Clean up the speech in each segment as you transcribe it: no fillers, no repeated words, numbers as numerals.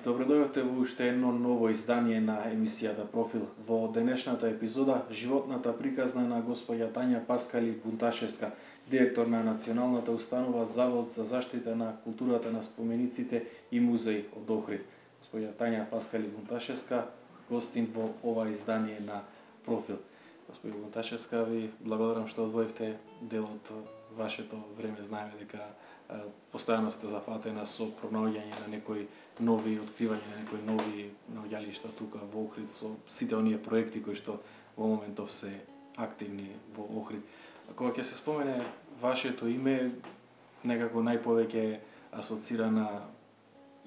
Добро дојдовте во уште едно ново издание на емисијата Профил. Во денешната епизода, животната приказна на госпоѓа Тања Паскали Бунташевска, директор на Националната установа Завод за заштита на културата на спомениците и музеј од Охрид. Госпоѓа Тања Паскали Бунташевска, гостин во ова издание на Профил. Госпоѓа Бунташевска, ви благодарам што одвоивте дел од вашето време. Знаеме дека постојано сте зафатена со пронаоѓање на некои нови откривања, на некои нови наоѓалишта тука во Охрид, со сите оние проекти кои што во моментов се активни во Охрид. Кога ќе се спомене вашето име, некако најповеќе асоцира на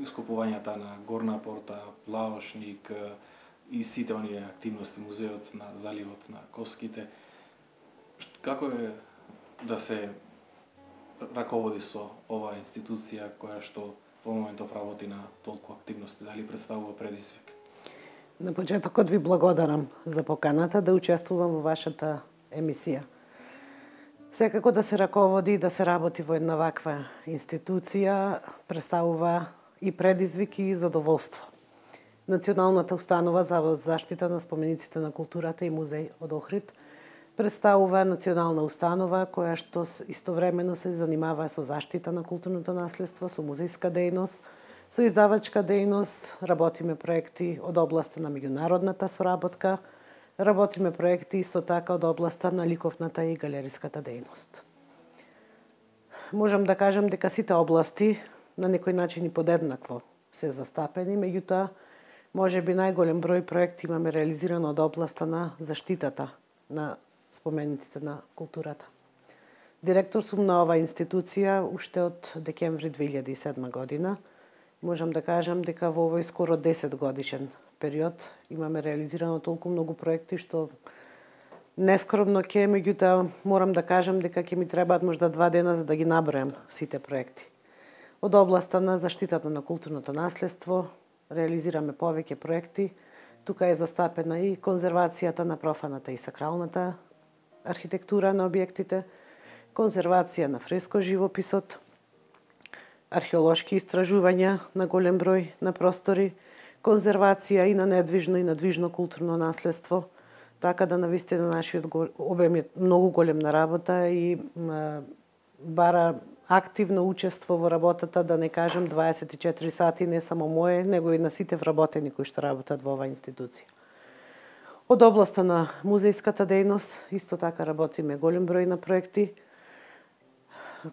ископувањата на Горна порта, Плаошник и сите оние активности, музеот на заливот на Коските. Како е да се раководи со оваа институција која што во моментов работи на толку активности, дали представува предизвик? На почетокот ви благодарам за поканата да учествувам во вашата емисија. Секако да се раководи и да се работи во една ваква институција представува и предизвик и задоволство. Националната установа Завод за заштита на спомениците на културата и музеј од Охрид представува национална установа која што истовремено се занимава со заштита на културното наследство, со музејска дејност, со издавачка дејност, работиме проекти од областа на меѓународната соработка, работиме проекти исто така од областа на ликовната и галериската дејност. Можам да кажам дека сите области на некој начин и подеднакво се застапени, меѓутоа можеби најголем број проекти имаме реализирано од областа на заштитата на спомениците на културата. Директор сум на оваа институција уште од декември 2007 година. Можам да кажам дека во овој скоро 10 годишен период имаме реализирано толку многу проекти што нескромно ќе, меѓутоа морам да кажам дека ќе ми требаат можда 2 дена за да ги набројам сите проекти. Од областа на заштитата на културното наследство реализираме повеќе проекти. Тука е застапена и конзервацијата на профаната и сакралната архитектура на објектите, конзервација на фреско живописот, археолошки истражувања на голем број на простори, конзервација и на недвижно и на движно културно наследство, така да навистина нашиот обем е многу голем на работа и бара активно учество во работата, да не кажам 24 сати, не само мое, него и на сите вработени кои што работат во оваа институција. Од областа на музејската дејност, исто така работиме голем број на проекти.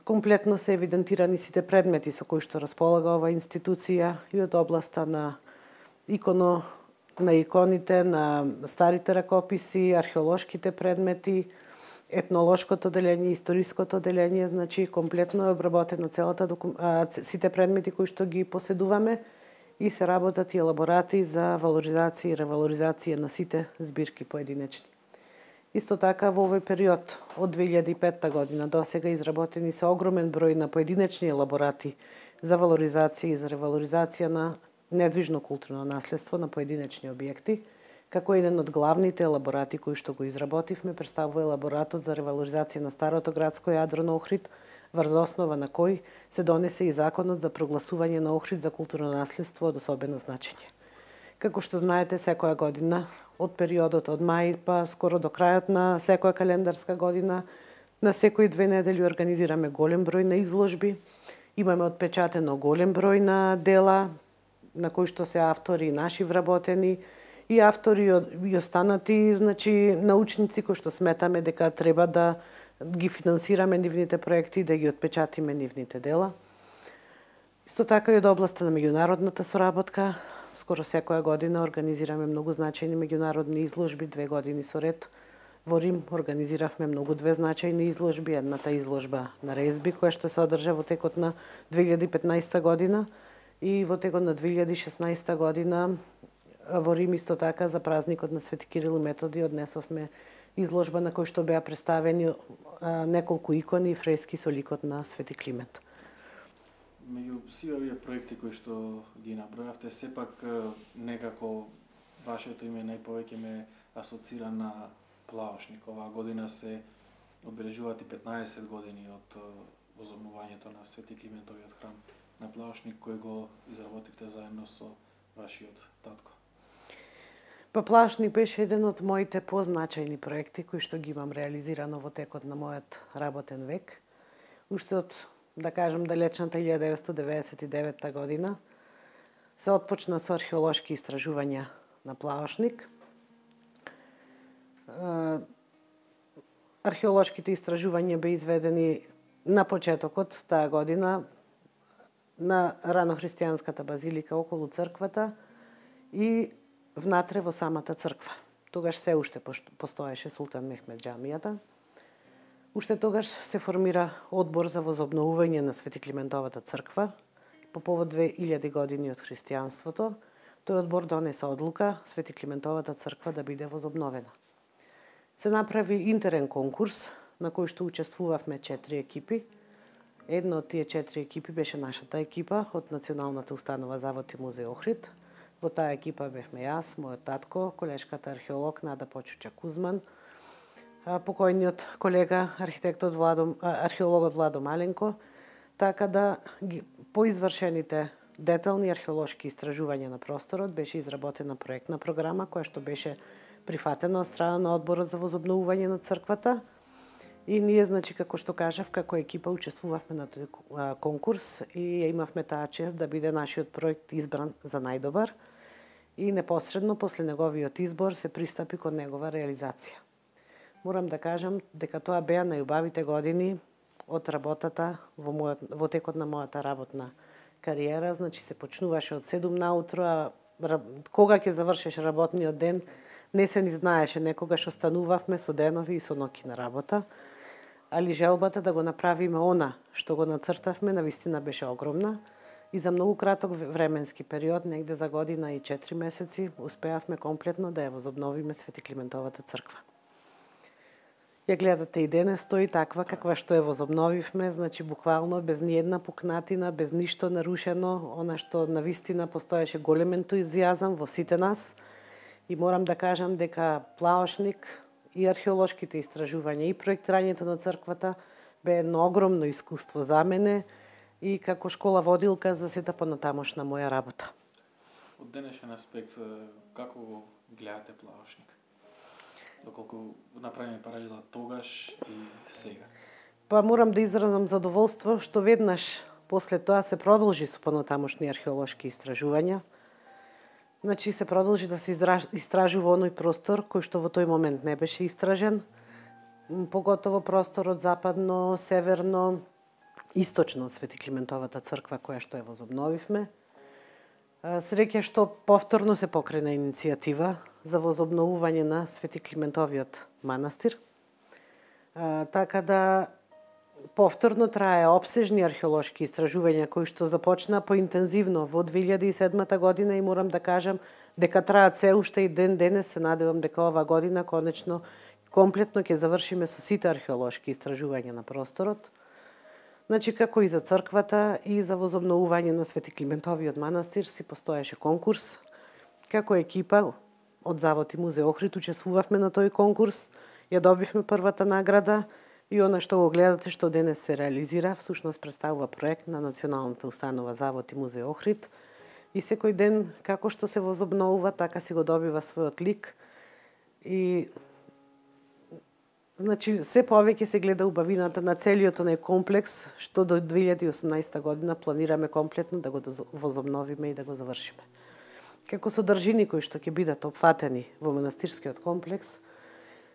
Комплетно се евидентирани сите предмети со кои што располага оваа институција и од областа на иконите, на старите ракописи, археолошките предмети, етнолошкото делење, историското делење, значи комплетно е обработено сите предмети кои што ги поседуваме и се работат и елаборати за валоризација и ревалоризација на сите збирки поединечни. Исто така во овој период од 2005 година до сега изработени се огромен број на поединечни елаборати за валоризација и за ревалоризација на недвижно културно наследство на поединечни објекти. Како еден од главните елаборати кои што го изработивме представува елаборатот за ревалоризација на старото градско јадро на Охрид, врз основа на кој се донесе и законот за прогласување на Охрид за културно наследство од особено значење. Како што знаете, секоја година, од периодот од мај па скоро до крајот на секоја календарска година, на секои 2 недели организираме голем број на изложби, имаме отпечатено голем број на дела, на кои што се автори наши вработени, и автори и останати, значи научници кои што сметаме дека треба да ги финансираме нивните проекти и да ги отпечатиме нивните дела. Исто така и од областа на меѓународната соработка, скоро секоја година организираме многу значајни меѓународни изложби, 2 години со ред. Во Рим организиравме многу 2 значајни изложби, едната изложба на резби која што се одржа во текот на 2015 година и во текот на 2016 година во Рим исто така за празникот на Свети Кирил и Методи однесовме изложба на кој што беа представени неколку икони и фрески со ликот на Свети Климент. Меѓу сите овие проекти кои што ги набројавте, сепак некако вашето име најповеќе ме асоцира на Плаошник. Оваа година се одбележуваат и 15 години од возобновувањето на Свети Климентовиот храм на Плаошник, кој го изработивте заедно со вашиот татко? Па Плавошник беше еден од моите позначајни проекти кои што ги имам реализирано во текот на мојот работен век. Уште од, да кажем, далечната 1999 година се отпочна со археолошки истражувања на Плавошник. Археолошките истражувања беа изведени на почетокот таа година на ранохристијанската базилика околу црквата и внатре во самата црква. Тогаш се уште постоеше Султан Мехмед џамијата. Уште тогаш се формира одбор за возобновување на Свети Климентовата црква по повод 2000 години од христијанството. Тој одбор донесе одлука Свети Климентовата црква да биде возобновена. Се направи интерен конкурс на кој што учествувавме 4 екипи. Една од тие 4 екипи беше нашата екипа од Националната установа Завод и музеј Охрид. Во таа екипа бевме јас, мојот татко, колешката археолог Нада Почуча Кузман, покојниот колега археологот Владо Маленко, така да по извршените детални археолошки истражувања на просторот беше изработена проектна програма која што беше прифатена од страна на одборот за возобновување на црквата. И ние, значи, како што кажав, како екипа учествувавме на тој конкурс и имавме таа чест да биде нашиот проект избран за најдобар и непосредно после неговиот избор се пристапи кон негова реализација. Морам да кажам дека тоа беа најубавите години од работата во текот на мојата работна кариера, значи се почнуваше од 7 наутро, а кога ќе завршиш работниот ден не се ни знаеше, некогаш останувавме со денови и со ноќи на работа. Али желбата да го направиме она што го нацртавме навистина беше огромна и за многу краток временски период, негде за година и 4 месеци, успеавме комплетно да ја возобновиме Свети Климентовата црква. Ја гледате и денес стои таква каква што ја возобновивме, значи буквално без ни една пукнатина, без ништо нарушено, она што навистина постоеше голем ентузијазам во сите нас и морам да кажам дека Плавошник и археолошките истражувања и проектирањето на црквата бе едно огромно искуство за мене и како школа водилка за сета понатамошна моја работа. Од денешен аспект, како го гледате Плавошник? Доколку направиме паралела тогаш и сега? Па морам да изразам задоволство што веднаш после тоа се продолжи со понатамошни археолошки истражувања. Значи се продолжи да се истражува оној простор кој што во тој момент не беше истражен, поготово просторот западно, северно, источно од Свети Климентовата црква која што ја возобновивме. Среќа што повторно се покрена иницијатива за возобновување на Свети Климентовиот манастир. Така да повторно трае опсежни археолошки истражувања кои што започна поинтензивно во 2007 година и морам да кажам дека траат се уште и ден денес. Се надевам дека ова година конечно комплетно ќе завршиме со сите археолошки истражувања на просторот. Значи како и за црквата и за возобновување на Свети Климентовиот манастир си постоеше конкурс. Како екипа од Завод и музеј Охрид учествувавме на тој конкурс, ја добивме првата награда. И она што го гледате што денес се реализира, всушност представува проект на Националната установа Завод и музеј Охрид. И секој ден, како што се возобновува, така си го добива својот лик. И значи, се повеќе се гледа убавината на целиот оној комплекс, што до 2018 година планираме комплетно да го возобновиме и да го завршиме. Како содржини кои што ќе бидат опфатени во манастирскиот комплекс,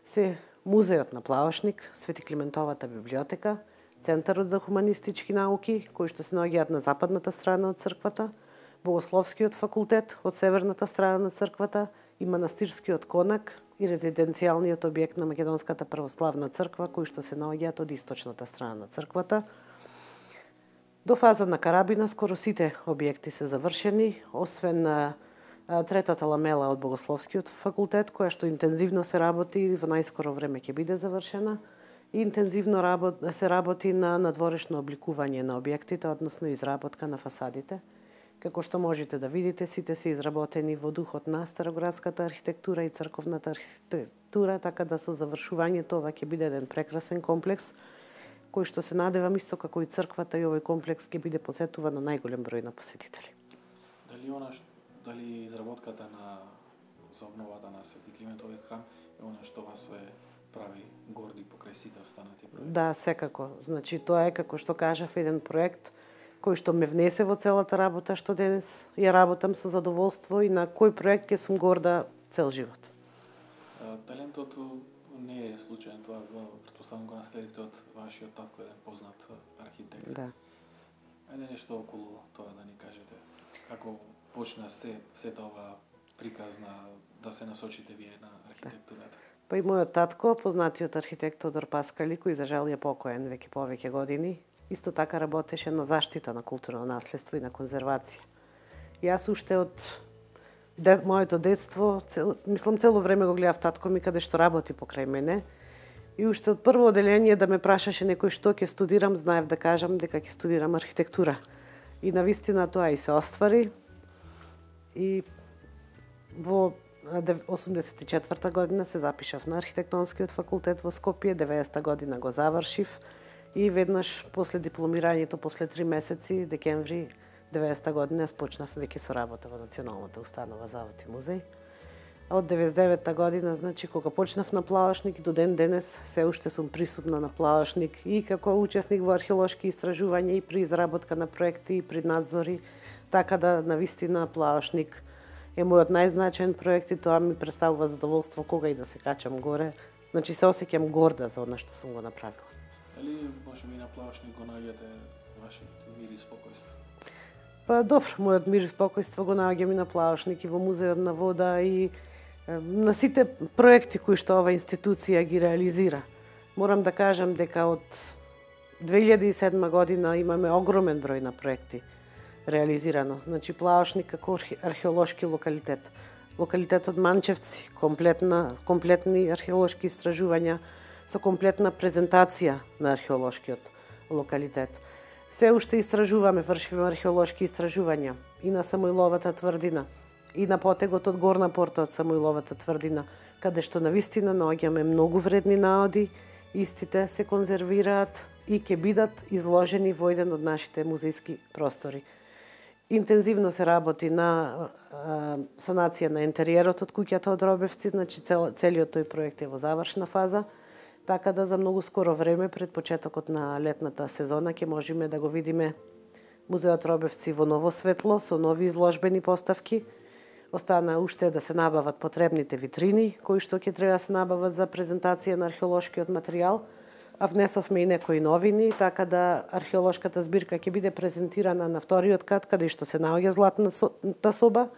се Музејот на Плавошник, Свети Климентовата библиотека, Центарот за хуманистички науки, кои што се наоѓаат на западната страна од црквата, Богословскиот факултет од северната страна на црквата и манастирскиот конак и резиденцијалниот објект на Македонската православна црква, кои што се наоѓаат од источната страна на црквата. До фаза на карабина скоро сите објекти се завршени, освен третата ламела од Богословскиот факултет, која што интензивно се работи и во најскоро време ќе биде завршена. И интензивно се работи на надворешно обликување на објектите, односно изработка на фасадите. Како што можете да видите, сите се изработени во духот на староградската архитектура и црковната архитектура, така да со завршувањето ова ќе биде еден прекрасен комплекс, кој што се надевам исто како и црквата и овој комплекс ќе биде посетуван на најголем број на посетители. Дали дали изработката за обновата на Свети Климентовиот храм е она што вас ве прави горди покрај сите останати проекти? Да, секако. Значи, тоа е, како што кажав, еден проект кој што ме внесе во целата работа, што денес ја работам со задоволство и на кој проект ќе сум горда цел живот. Талентот не е случаен, тоа претпоставам го наследивте од вашиот татко, еден познат архитект. Да. Ајде нешто околу тоа да ни кажете. Како почна сета ова приказна да се насочите вие на архитектурата? Па и мојот татко, познатиот архитект Тодор Паскали, кој за жал е покоен веќе повеќе години, исто така работеше на заштита на културно наследство и на конзервација. Јас уште од моето детство, цело време го гледав татко ми каде што работи покрај мене. И уште од прво оделение да ме прашаше некој што ќе студирам, знаев да кажам дека ќе студирам архитектура. И навистина тоа и се оствари. И во 84 година се запишав на архитектонскиот факултет во Скопје, 90 година го завршив и веднаш после дипломирањето, после 3 месеци, декември 90 година почнав веќе со работа во Националната установа Завод и музеј. А од 99 година, значи, кога почнав на Плавашник и до ден денес се уште сум присутна на Плавашник и како учесник во археолошки истражувања и при изработка на проекти и при надзори, така да навистина Плавашник е мојот најзначаен проект и тоа ми представува задоволство кога и да се качам горе. Значи се осеќам горда за она што сум го направила. Дали можеби на Плавашник го наоѓате вашиот мир и спокојство? Па добро, мојот мир и спокојство го наоѓам и на Плавашник и во Музеот на вода и на сите проекти кои што ова институција ги реализира. Морам да кажам дека од 2007 година имаме огромен број на проекти реализирано. Значи Плавашник како археолошки локалитет. Локалитетот Манчевци, комплетни археолошки истражувања со комплетна презентација на археолошкиот локалитет. Се уште истражуваме, вршиме археолошки истражувања и на Самоиловата тврдина, и на потегот од Горна порта од Самоиловата тврдина, каде што навистина наоѓаме многу вредни наоди, истите се конзервираат и ќе бидат изложени во еден од нашите музејски простори. Интензивно се работи на санација на интериерот од куќата од Робевци, значи целиот тој проект е во завршна фаза, така да за многу скоро време пред почетокот на летната сезона ќе можеме да го видиме Музеот Робевци во ново светло со нови изложбени поставки. Остана уште да се набават потребните витрини, кои што ќе треба да се набават за презентација на археолошкиот материјал, а внесовме и некои новини, така да археолошката збирка ќе биде презентирана на вториот кат, каде што се наоѓа златната соба.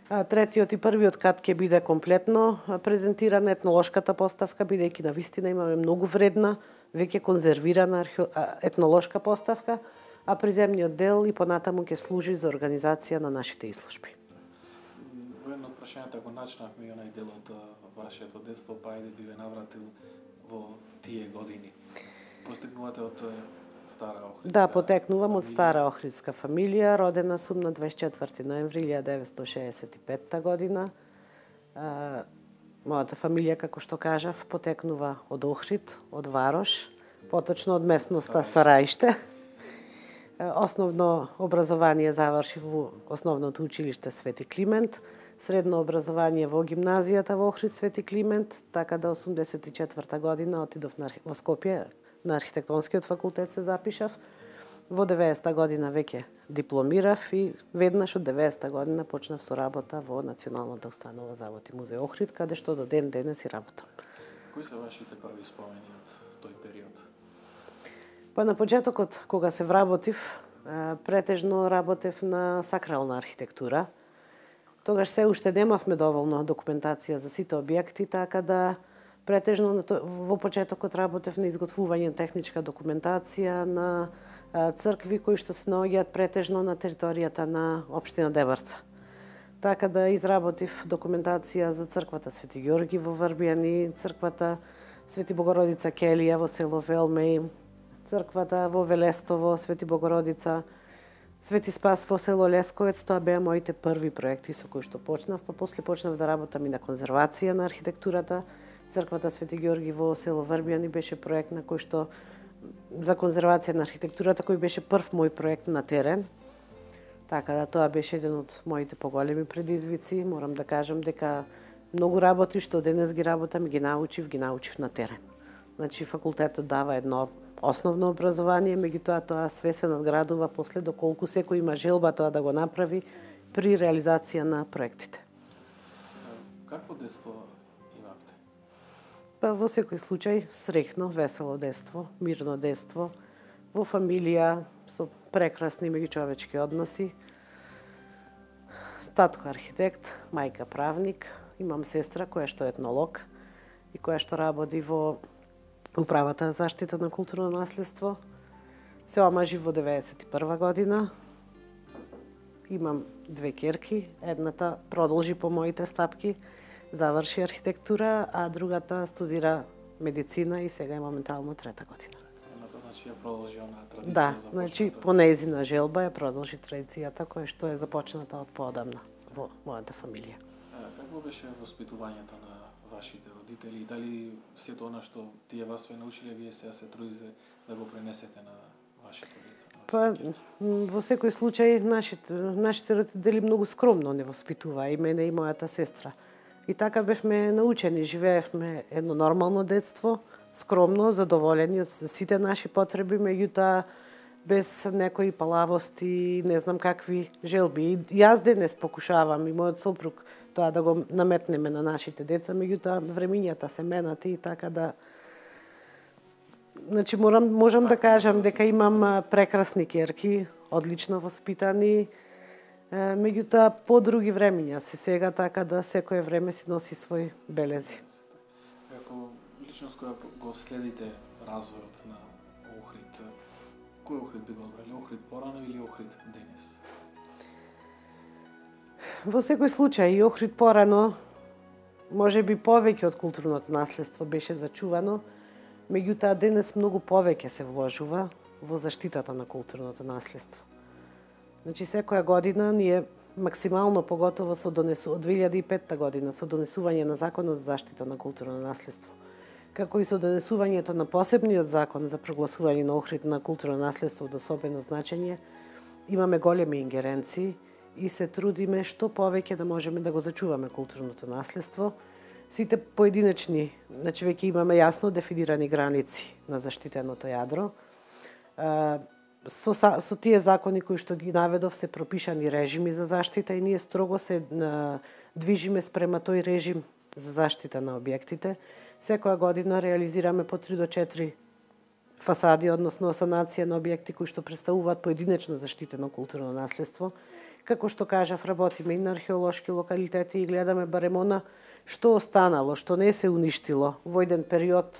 Третиот и првиот кат ќе биде комплетно презентирана етнолошката поставка, бидејќи навистина имаме многу вредна, веќе конзервирана етнолошка поставка, а приземниот дел и понатаму ќе служи за организација на нашите изложби. Во едно од прашањата го начнавме и онај дел од вашето детство, па ајде би ве навратил во тие години. Постигнувате од Стара Охридска? Да, потекнувам од Стара Охридска фамилија. Родена сум на 24 ноември 1965 година. Мојата фамилија, како што кажав, потекнува од Охрид, од Варош, поточно од местноста Сараиште. Основно образование завршив во Основното училиште Свети Климент, средно образование во гимназијата во Охрид Свети Климент, така да 84 година отидов во Скопје на архитектонскиот факултет се запишав. Во 90 година веќе дипломирав и веднаш од 90 година почнав со работа во Националната установа Завод и музеј Охрид, каде што до ден денес и работам. Кои се вашите први спомени од тој период? Па на почетокот, кога се вработив, претежно работев на сакрална архитектура. Тогаш се уште немавме доволно документација за сите објекти, така да претежно во почетокот работев на изготвување техничка документација на цркви кои што се наоѓаат претежно на територијата на општина Дебарца. Така да изработив документација за црквата Свети Ѓорги во Врбијани, црквата Свети Богородица Келија во село Велмеј, црквата во Велестово, Свети Богородица, Свети Спас во село Лесковец. Тоа беа моите први проекти со кои што почнав, па после почнав да работам и на конзервација на архитектурата. Црквата Свети Ѓорги во село Врбијани беше проект на кој што за конзервација на архитектурата, кој беше прв мој проект на терен. Така да тоа беше еден од моите поголеми предизвици. Морам да кажам дека многу работи што денес ги работам ги научив на терен. Значи факултетот дава едно основно образование, меѓутоа тоа све се надградува после доколку секој има желба тоа да го направи при реализација на проектите. Какво детство имавте? Па во секој случај среќно, весело детство, мирно детство, во фамилија со прекрасни меѓучовечки односи. Татко архитект, мајка правник, имам сестра која што е етнолог и која што работи во Управата за заштита на културно наследство. Се омажив во 91 година. Имам две ќерки, едната продолжи по моите стапки, заврши архитектура, а другата студира медицина и сега е моментално трета година. Значи ја продолжи онаа традиција. Да, значи по нејзина желба ја продолжи традицијата која што е започната од поодамна во мојата фамилија. Какво беше воспитувањето на вашите родители и дали сето она што тие вас ве научиле, вие сега се трудите да го пренесете на вашите деца? Па, во секој случај, нашите родители многу скромно не воспитуваа и мене и мојата сестра. И така бевме научени, живеевме едно нормално детство, скромно, задоволени од сите наши потреби, меѓутоа без некои палавости, не знам какви желби. И јас денес покушавам и мојот сопруг тоа да го наметнеме на нашите деца, меѓутоа времињата се менати и така да. Значи можам да кажам дека имам прекрасни ќерки, одлично воспитани, меѓутоа по други времиња се сега, така да секое време си носи свој белези. Како личност која го следите развојот на Охрид, кој Охрид би го одбрали? Охрид порано или Охрид денес? Во секој случај, и Охрид порано, може би повеќе од културното наследство беше зачувано, меѓутоа денес многу повеќе се вложува во заштитата на културното наследство. Значи секоја година ние максимално, поготово од 2005 година, со донесување на Законот за заштита на културно наследство, како и со донесувањето на посебниот закон за прогласување на Охрид на културно наследство од особено значење, имаме големи ингеренции и се трудиме што повеќе да можеме да го зачуваме културното наследство. Сите поединечни, значи веќе имаме јасно дефинирани граници на заштитеното јадро. Со тие закони кои што ги наведов се пропишани режими за заштита и ние строго се движиме спрема тој режим за заштита на објектите. Секоја година реализираме по 3 до 4 фасади, односно санација на објекти кои што представуваат поединечно заштитено културно наследство. Како што кажав, работиме и на археолошки локалитети и гледаме барем она што останало, што не се уништило во еден период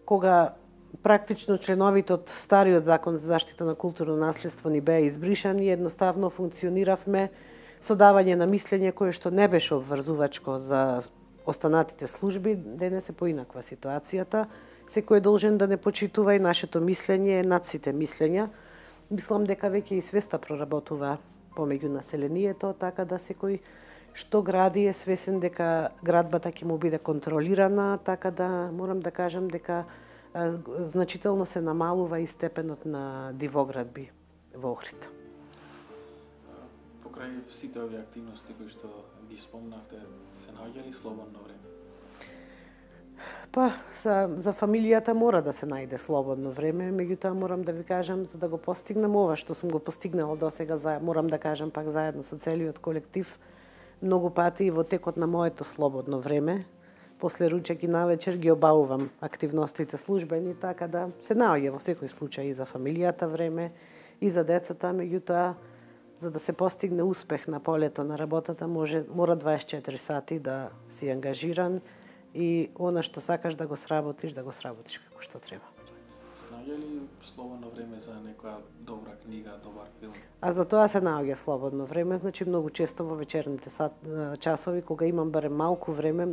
кога практично членовите од стариот закон за заштита на културно наследство ни беа избришани и едноставно функциониравме со давање на мислење кое што не беше обврзувачко за останатите служби. Денес е поинаква ситуацијата. Секој е должен да не почитува и нашето мислење е над сите мислења. Мислам дека веќе и свеста проработува помеѓу населението, така да секој што гради е свесен дека градбата ќе му биде контролирана, така да морам да кажам дека значително се намалува и степенот на дивоградби во Охрид. Покрај сите овие активности кои што ги спомнавте, се наоѓа ли слободно време? Па, за фамилијата мора да се најде слободно време, меѓутоа морам да ви кажам, за да го постигнам ова што сум го постигнала досега, морам да кажам пак заедно со целиот колектив, многу пати и во текот на моето слободно време, после ручек и навечер ги обавувам активностите службени, така да се наоѓа во секој случај и за фамилијата време, и за децата, меѓутоа, за да се постигне успех на полето на работата, мора 24 сати да си ангажиран и она што сакаш да го сработиш како што треба. Наоѓа ли слободно време за некоја добра книга, добар филм? А за тоа се наоѓа слободно време, значи многу често во вечерните часови, кога имам барем малку време,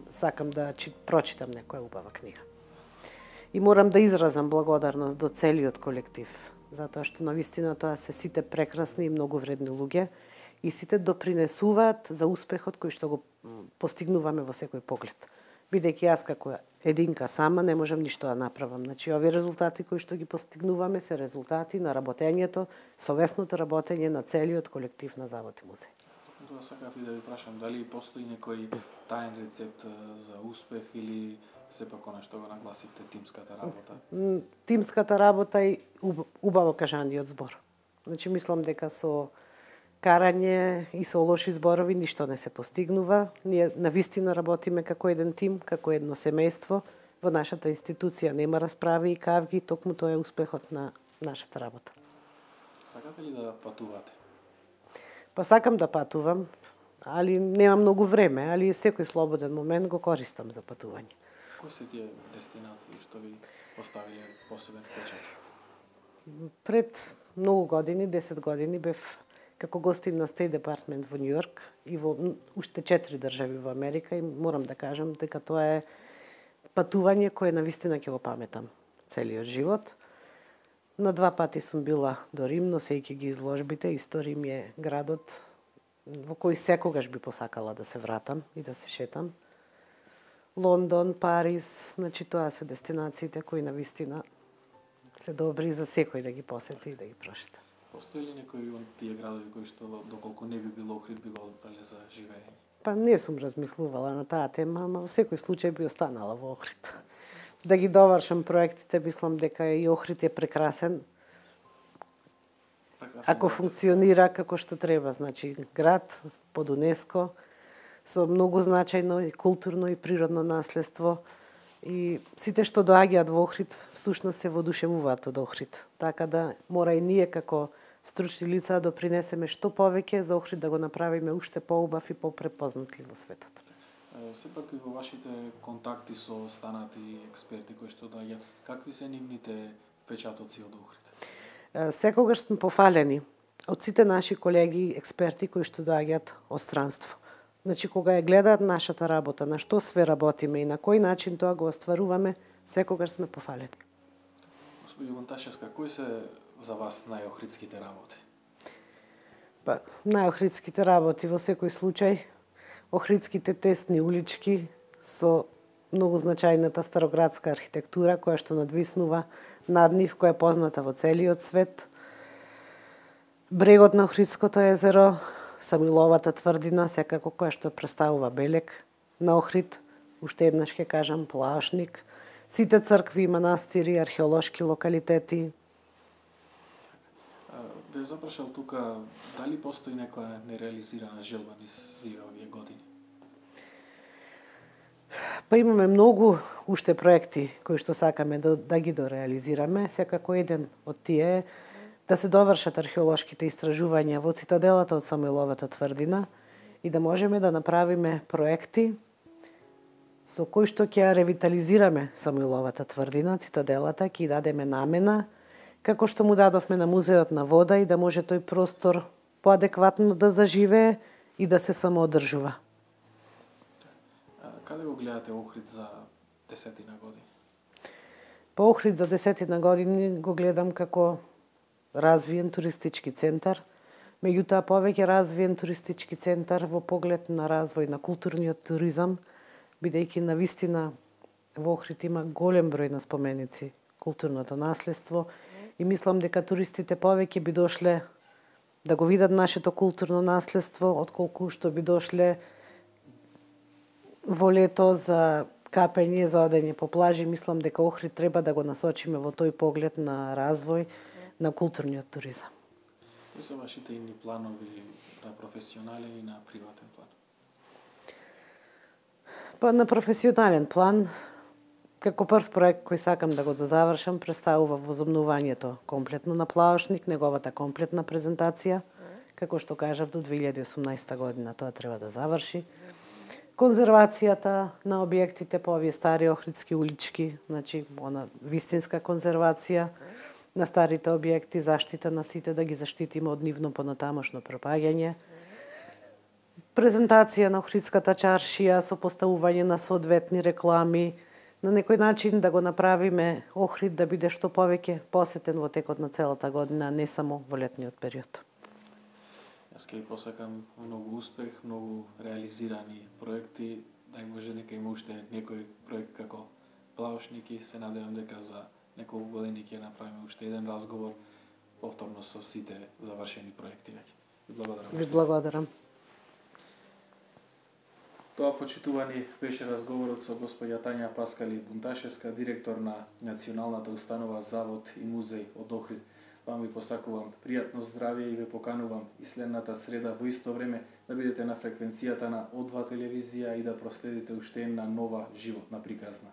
сакам да прочитам некоја убава книга. И морам да изразам благодарност до целиот колектив, затоа што навистина тоа се сите прекрасни и многу вредни луѓе и сите допринесуваат за успехот кој што го постигнуваме во секој поглед. бидејќи јас како единка сама не можам ништо да направам. Значи, овие резултати кои што ги постигнуваме се резултати на работењето, совесното работење на целиот колектив на Завод и музеј. Тоа сакав и да ви прашам, дали постои некој таен рецепт за успех или сепак она што го нагласивте, тимската работа? Тимската работа и убаво кажаниот збор. Значи, мислам дека со карање и со лоши зборови ништо не се постигнува. Ние навистина работиме како еден тим, како едно семејство. Во нашата институција нема расправи и кавги, токму тоа е успехот на нашата работа. Сакате ли да патувате? Па сакам да патувам, али нема многу време, али секој слободен момент го користам за патување. Кои се тие дестинации што ви поставиле посебен впечаток? Пред многу години, 10 години, бев како гостин на State Department во Њујорк и во уште 4 држави во Америка и морам да кажам дека тоа е патување кое навистина ќе го паметам целиот живот. На 2 пати сум била до Рим, носејќи ги изложбите. Исто Рим е градот во кој секогаш би посакала да се вратам и да се шетам. Лондон, Париз, значи тоа се дестинациите кои навистина се добри за секој да ги посети и да ги прошета. Постои ли некои од тие градови кои што доколку не би било Охрид би го одбрале за живење? Па не сум размислувала на таа тема, ама во секој случај би останала во Охрид. Да ги довршам проектите, мислам дека и Охрид е прекрасен. Ако функционира како што треба, значи град под УНЕСКО со многу значајно и културно и природно наследство и сите што доаѓаат во Охрид всушност се воодушевуваат од Охрид. Така да мора и ние како стручни лица да допринесеме што повеќе за Охрид да го направиме уште поубав и попрепознатлив во светот. Сепак и во вашите контакти со станати експерти кои што доаѓаат, какви се нивните впечатоци од Охрид? Секогаш сме пофалени од сите наши колеги експерти кои што доаѓаат од странство. Значи, кога ја гледаат нашата работа, на што све работиме и на кој начин тоа го остваруваме, секогаш сме пофалени. Господи Бунташевска, кои се за вас најохридските работи? Па, најохридските работи во секој случај, охридските тесни улички со многу значајната староградска архитектура која што надвиснува над нив, која е позната во целиот свет. Брегот на Охридското езеро, Самуиловата тврдина, секако која што представува белег на Охрид, уште еднаш ќе кажам Плаошник, сите цркви, манастири, археолошки локалитети. Бе запрашал тука, дали постои некоја нереализирана желба низ овие години? Па имаме многу уште проекти кои што сакаме да ги дореализираме. Секако еден од тие е да се довршат археолошките истражувања во цитаделата од Самуиловата тврдина и да можеме да направиме проекти со кои што ќе ревитализираме Самуиловата тврдина, цитаделата, ќе дадеме намена, како што му дадовме на Музеот на вода и да може тој простор поадекватно да заживее и да се самоодржува. Каде го гледате Охрид за 10 години? По Охрид за 10 години го гледам како развиен туристички центар, меѓутоа повеќе развиен туристички центар во поглед на развој на културниот туризам, бидејќи навистина во Охрид има голем број на споменици културното наследство и мислам дека туристите повеќе би дошле да го видат нашето културно наследство, отколку што би дошле во лето за капење, за одење по плажи. Мислам дека Охрид треба да го насочиме во тој поглед на развој на културниот туризам. Кои се вашите идни планови на професионален и на приватен план? Па на професионален план, како прв проект кој сакам да го дозавршам, представува возобновувањето комплетно на Плаошник, неговата комплетна презентација, како што кажав, до 2018 година тоа треба да заврши. Конзервацијата на објектите по овие стари охридски улички, значи она вистинска конзервација на старите објекти, заштита на сите, да ги заштитиме од нивно понатамошно пропаѓање. Презентација на Охридската чаршија со поставување на соодветни реклами, на некој начин да го направиме Охрид да биде што повеќе посетен во текот на целата година, не само во летниот период. Јас ќе ви посакам многу успех, многу реализирани проекти, дај Боже дека има уште некој проект како Плаушники, се надевам дека за неколку години ќе направиме уште еден разговор повторно со сите завршени проекти веќе. Ви благодарам. Ви благодарам. Тоа, почитувани, беше разговорот со госпоѓа Тања Паскали Бунташевска, директор на Националната установа Завод и музеј од Охрид. Вам ви посакувам пријатно здравје и ве поканувам и следната среда во исто време да бидете на фреквенцијата на О2 телевизија и да проследите уште една нова животна приказна.